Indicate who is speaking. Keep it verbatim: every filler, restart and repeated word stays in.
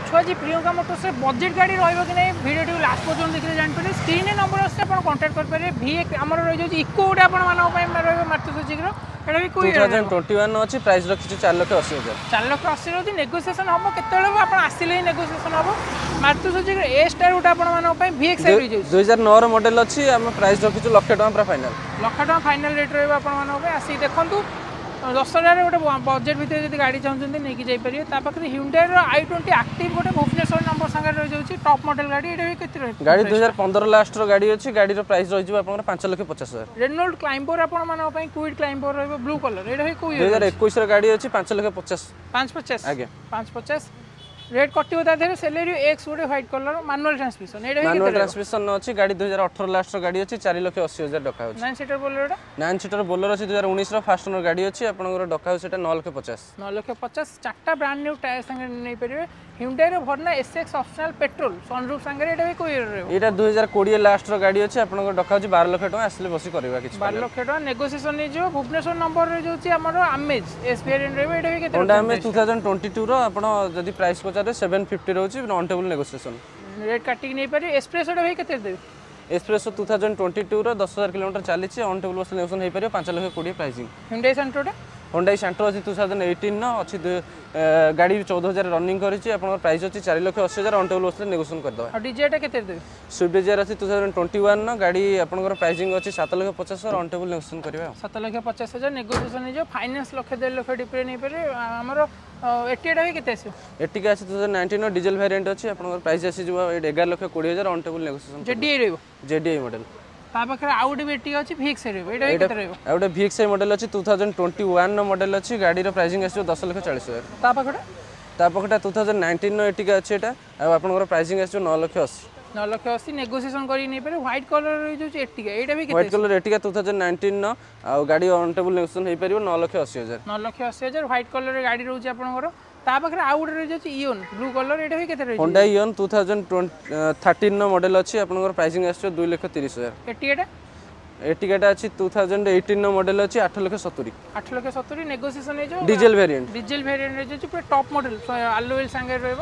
Speaker 1: ଅଛୁ ଆଜି ପ୍ରିୟଙ୍କା ମୋଟର୍ସରେ ବଜେଟ୍ ଗାଡ଼ି ରହିବ କି ନାହିଁ ଭିଡ଼ିଓଟିକୁ ଲାଷ୍ଟ ପର୍ଯ୍ୟନ୍ତ ଦେଖିଲେ ଜାଣିପାରିବେ ସ୍କ୍ରିନ୍ରେ ନମ୍ବର ଅଛି ଆପଣ କଣ୍ଟାକ୍ଟ କରିପାରିବେ ଭି ଆମର ରହିଯାଉଛି ଇକୋ ଗୋଟେ ଆପଣମାନଙ୍କ ପାଇଁ ରହିବ ମାରୁତି ସୁଜୁକିର ଏଇଟା ବି
Speaker 2: ଟୁ
Speaker 1: କୋଉ
Speaker 2: ଥାଉଜେଣ୍ଡ ଟ୍ୱେଣ୍ଟି ୱାନ୍ ଅଛି ପ୍ରାଇସ୍ ରଖିଛୁ ଚାରି ଲକ୍ଷ ଅଶୀ ହଜାର
Speaker 1: ଚାରି ଲକ୍ଷ ଅଶୀ ରହୁଛି ନେଗୋସିଏସନ୍ ହେବ କେତେବେଳେ ହେବ ଆପଣ ଆସିଲେ ହିଁ ନେଗୋସିଏସନ୍ ହେବ ମାରୁତି ସୁଜୁକିର ଏ ଷ୍ଟାର ଗୋଟେ ଆପଣମାନଙ୍କ ପାଇଁ ଭି ଏକ୍ସ I ରହିଯାଉଛି
Speaker 2: ଦୁଇ ହଜାର ନଅର ମଡେଲ ଅଛି ଆମେ ପ୍ରାଇସ୍ ରଖିଛୁ ଲକ୍ଷେ ଟଙ୍କା ପୁରା ଫାଇନାଲ
Speaker 1: ଲକ୍ଷ ଟଙ୍କା ଫାଇନାଲ ରେଟ୍ ରହିବ ଆପଣମାନଙ୍କ ପାଇଁ ଆସିକି ଦେଖନ୍ତୁ ଦଶହରାରେ ଗୋଟେ ବଜେଟ୍ ଭିତରେ ଯଦି ଗାଡ଼ି ଚାହୁଁଛନ୍ତି ନେଇକି ଯାଇପାରିବେ ତା ପାଖରେ ହ୍ୟୁଣ୍ଡାଇର I twenty active ଗୋଟେ ଭୁବନେଶ୍ୱର ନମ୍ବର ସାଙ୍ଗରେ ରହିଯାଉଛି ଟପ୍ ମଡେଲ ଗାଡ଼ି ଏଇଟା ବି କେତେ ରହିବ
Speaker 2: ଗାଡ଼ି ଦୁଇ ହଜାର ପନ୍ଦର ଲାଷ୍ଟର ଗାଡ଼ି ଅଛି ଗାଡ଼ିର ପ୍ରାଇସ୍ ରହିଯିବ ଆପଣଙ୍କର ପାଞ୍ଚ ଲକ୍ଷ ପଚାଶ ହଜାର
Speaker 1: ରେନୋଲ୍ଡ କ୍ଲାଇମ୍ବର ଆପଣମାନଙ୍କ ପାଇଁ କ୍ୱିଡ୍ କ୍ଲାଇମ୍ବର ରହିବ ବ୍ଲୁ କଲର୍ ଏଇଟା ବି କୋଉ
Speaker 2: ଦୁଇ ହଜାର ଏକୋଇଶର ଗାଡ଼ି ଅଛି ପାଞ୍ଚ ଲକ୍ଷ ପଚାଶ
Speaker 1: ପାଞ୍ଚ ପଚାଶ
Speaker 2: ଆଜ୍ଞା
Speaker 1: ପାଞ୍ଚ ପଚାଶ ରେଟ୍ କଟିବ ତା ଦେହରେ ସେଲେରିଓ ଏକ୍ସ ଗୋଟେ ହ୍ୱାଇଟ୍ କଲର୍ ମାନୁଆଲ ଟ୍ରାନ୍ସମିସନ୍ ଏଇଟା ବି
Speaker 2: ମାନୁଆଲ
Speaker 1: କେତେ ରହିବ
Speaker 2: ଟ୍ରାନ୍ସମିସନ୍ ଅଛି ଗାଡ଼ି ଦୁଇ ହଜାର ଅଠର ଲାଷ୍ଟର ଗାଡ଼ି ଅଛି ଚାରି ଲକ୍ଷ ଅଶୀ ହଜାର ଡକା ହେଉଛି
Speaker 1: ନାଇନ୍ ସିଟର ବୋଲେରୋଟା
Speaker 2: ନାଇନ୍ ସିଟର ବୋଲେରୋ ଅଛି ଦୁଇ ହଜାର ଉଣେଇଶର ଫାଷ୍ଟ ଓନର ଗାଡ଼ି ଅଛି ଆପଣଙ୍କର ଡକା ହେଉଛି ସେଟା ନଅ ଲକ୍ଷ ପଚାଶ
Speaker 1: ନଅ ଲକ୍ଷ ପଚାଶ ଚାରିଟା ବ୍ରାଣ୍ଡ ନ୍ୟୁ ଟାୟାର ସାଙ୍ଗରେ ନେଇପାରିବେ ହ୍ୟୁଣ୍ଡାଇର Verna S X optional petrol sunroof ସାଙ୍ଗରେ ଏଇଟା ବି କୋଉ ଇୟର ରହିବ
Speaker 2: ଏଇଟା ଦୁଇ ହଜାର କୋଡ଼ିଏ ଲାଷ୍ଟର ଗାଡ଼ି ଅଛି ଆପଣଙ୍କର ଡକା ହେଉଛି ବାର ଲକ୍ଷ ଟଙ୍କା ଆସିଲେ ବସି କରିବା କିଛି
Speaker 1: ବାର ଲକ୍ଷ ଟଙ୍କା ନେଗୋସିଏସନ୍ ହେଇଯିବ ଭୁବନେଶ୍ୱର ନମ୍ବର ରହିଯାଉଛି ଆମର ଆମେଜ୍ ଏସ୍ ଭେରିଏଣ୍ଟ ରହିବ ଏଇଟା ବି କେତେ
Speaker 2: Honda Amaze two thousand twenty ଟୁର ଆପଣ ଯଦି ପ୍ରାଇସ୍ ପଚାରିବେ ସେଭେନ୍ ଫିଫ୍ଟି ରହୁଛି ଅନ୍ ଟେବୁଲ୍ ନେଗୋସିଏସନ୍
Speaker 1: ରେଟ୍ କାଟିକି ନେଇପାରିବେ ଏସ୍ପ୍ରେସୋଟା ଭାଇ କେତେ ଦେବେ
Speaker 2: ଏସ୍ପ୍ରେସୋ ଟୁ ଥାଉଜେଣ୍ଡ ଟ୍ୱେଣ୍ଟି ଟୁର ଦଶ ହଜାର କିଲୋମିଟର ଚାଲିଛି ଅନ୍ ଟେବୁଲ୍ ବସିଲେ ନେଗୋସିଏସନ୍ ହେଇପାରିବ ପାଞ୍ଚ ଲକ୍ଷ କୋଡ଼ିଏ ପ୍ରାଇସିଂ
Speaker 1: ହ୍ୟୁଣ୍ଡାଇ ସେଣ୍ଟ୍ରୋଟା
Speaker 2: ହୋଣ୍ଡାଇ ସାଣ୍ଟ୍ରୋ ଅଛି ଟୁ ଥାଉଜେଣ୍ଡ ଏଇଟିନ୍ର ଅଛି ଦୁଇ- ଏ, ଗାଡ଼ି ଚଉଦ ହଜାର ରନିଂ କରିଛି ଆପଣଙ୍କର ପ୍ରାଇସ୍ ଅଛି ଚାରି ଲକ୍ଷ ଅଶୀ ହଜାର ଅନ୍ ଟେବୁଲ୍ ବସିଲେ ନେଗୋସିଏସନ୍ କରିଦେବା
Speaker 1: ଆଉ ଡିଜାୟାରଟା କେତେ ଦେବେ
Speaker 2: ସୁଇଫ୍ଟ ଡିଜାୟାର ଅଛି ଟୁ ଥାଉଜେଣ୍ଡ ଟ୍ୱେଣ୍ଟି ୱାନ୍ର ଗାଡ଼ି ଆପଣଙ୍କର ପ୍ରାଇସିଂ ଅଛି ସାତ ଲକ୍ଷ ପଚାଶ ହଜାର ଅନ୍ ଟେବୁଲ୍ ନେଗୋସିଏସନ୍ କରିବା ଆଉ
Speaker 1: ସାତ ଲକ୍ଷ ପଚାଶ ହଜାର ନେଗୋସିଏସନ୍ ହେଇଯିବ ଫାଇନାନ୍ସ ଲକ୍ଷେ ଦେଢ଼ ଲକ୍ଷ ଡିପିରେ ନେଇପାରିବେ ଆମର ଏର୍ଟିଗାଟା ବି କେତେ ଆସିବ
Speaker 2: ଏର୍ଟିଗା ଅଛି ଟୁ ଥାଉଜେଣ୍ଡ ନାଇଣ୍ଟିନ୍ର ଡିଜେଲ ଭ୍ୟାରିଏଣ୍ଟ ଅଛି ଆପଣଙ୍କର ପ୍ରାଇସ୍ ଆସିଯିବ ଏଇଠି ଏଗାର ଲକ୍ଷ କୋଡ଼ିଏ ହଜାର ଅନ୍ ଟେବୁଲ୍ ନେଗୋସିଏସନ୍
Speaker 1: ଜେଡିଆଇ ରହିବ
Speaker 2: ଜେଡିଆଇ ମଡେଲ
Speaker 1: ତା ପାଖରେ ଆଉ ଗୋଟେ ବି ଏର୍ଟିଗା ଅଛି ଭିଏକ୍ସ ରହିବ ଏଇଟା ବି କେତେ ରହିବ
Speaker 2: ଆଉ ଗୋଟେ ଭିଏକ୍ସଆଇ ମଡେଲ ଅଛି ଟୁ ଥାଉଜେଣ୍ଡ ଟ୍ୱେଣ୍ଟି ୱାନ୍ର ମଡେଲ ଅଛି ଗାଡ଼ିର ପ୍ରାଇସିଂ ଆସିବ ଦଶ ଲକ୍ଷ ଚାଳିଶ ହଜାର
Speaker 1: ତା ପାଖଟା
Speaker 2: ତା ପାଖଟା ଟୁ ଥାଉଜେଣ୍ଡ ନାଇଣ୍ଟିନ୍ର ଏର୍ଟିଗା ଅଛି ଏଇଟା ଆଉ ଆପଣଙ୍କର ପ୍ରାଇସିଂ ଆସିବ ନଅ ଲକ୍ଷ ଅଶୀ
Speaker 1: ନଅ ଲକ୍ଷ ଅଶୀ ନେଗୋସିଏସନ୍ କରିକି ନେଇପାରିବେ ହ୍ୱାଇଟ୍ କଲର୍ ରହିଯାଉଛି ଏର୍ଟିଗା ଏଇଟା ବି କେତେ
Speaker 2: white colour Ertiga two thousand ନାଇଣ୍ଟିନ୍ର ଆଉ ଗାଡ଼ି ଅନ୍ ଟେବୁଲ୍ ନେଗୋସିଏସନ୍ ହେଇପାରିବ ନଅ ଲକ୍ଷ ଅଶୀ ହଜାର
Speaker 1: ନଅ ଲକ୍ଷ ଅଶୀ ହଜାର ହ୍ୱାଇଟ୍ କଲର୍ର ଗାଡ଼ି ରହୁଛି ଆପଣଙ୍କର ତା ପାଖରେ ଆଉ ଗୋଟେ ରହିଯାଉଛି ଇଓନ୍ ବ୍ଲୁ କଲର୍ ଏଇଟା ବି କେତେ ରହିଛି
Speaker 2: ହୋଣ୍ଡା ଇଅନ୍ ଟୁ ଥାଉଜେଣ୍ଡ ଥାର୍ଟିନ୍ର ମଡେଲ ଅଛି ଆପଣଙ୍କର ପ୍ରାଇସିଂ ଆସିବ ଦୁଇ ଲକ୍ଷ ତିରିଶ ହଜାର
Speaker 1: ଏର୍ଟିଗାଟା
Speaker 2: ଏର୍ଟିଗାଟା ଅଛି ଟୁ ଥାଉଜେଣ୍ଡ ଏଇଟିନ୍ର ମଡେଲ ଅଛି ଆଠ ଲକ୍ଷ ସତୁରି
Speaker 1: ଆଠ ଲକ୍ଷ ସତୁରି ନେଗୋସିଏସନ୍ ହେଇଯିବ
Speaker 2: ଡିଜେଲ ଭ୍ୟାରିଏଣ୍ଟ
Speaker 1: ଡିଜେଲ ଭେରିଏଣ୍ଟ ରହିଯାଉଛି ପୁରା ଟପ୍ ମଡେଲ ଆଲୋ ହୁଇଲ୍ ସାଙ୍ଗରେ ରହିବ